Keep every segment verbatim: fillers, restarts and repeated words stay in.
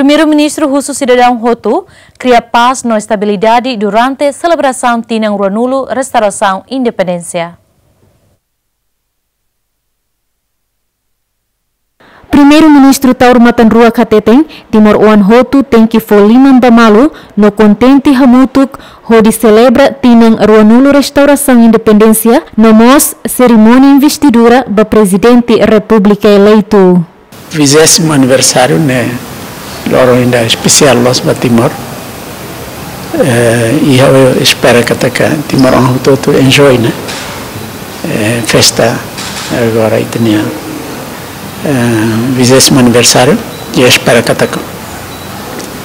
Primeiru-Ministru husu sidadaun hotu kria pás no estabilidade durante selebrasaun tinan ruanulu restaurasaun independénsia. Primeiru-Ministru Taur Matan Ruak hateten, timoroan hotu tenke fó liman ba malu no kontente hamutuk hodi selebra tinan ruanulu restaurasaun independénsia no mós serimónia investidura ba Prezidente Repúblika eleitu. Vigésimo aniversário ne'e loron ida espesiál loos ba Timor. Eh, i ha'u espera katak timoroan hotu-hotu enjoy, ne'e? Eh, festa agora ita-nia, eh, vigésimo aniversário. I espera katak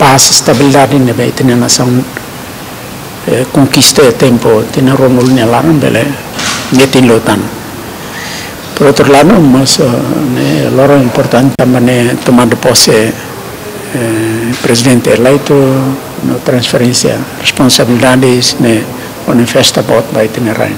pás, estabilidade ne'ebé ita-nia nasaun, eh, konkista iha tempu tinan ruanulu nia laran bele metin liután. Por outro lado, mós, eh, ne'e loron importante tanba ne'e tomada pose, eh, Prezidente eleitu no transferénsia responsabilidades ne'e manifesta boot ba ita-nia rain.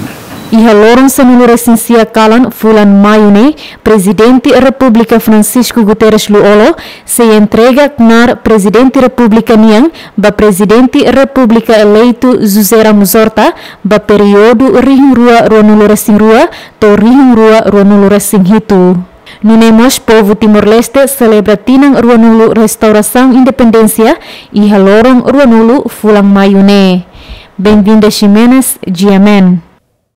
Iha loron sanulu-resin-sia kalan fulan Maiu ne'e, Prezidente Repúblika Francisco Guterres Lú-Olo sei entrega knaar Prezidente Repúblika nian ba Prezidente Repúblika eleitu José Ramos Horta ba períodu rihun rua ruanulu-resin-rua to'o rihun rua ruanulu-resin-hitu. Nune'e mós povu Timor-Leste selebra tinan ruanulu restaurasaun independénsia iha loron ruanulu fulan Maiu ne'e. Benvinda Ximenes, G M N.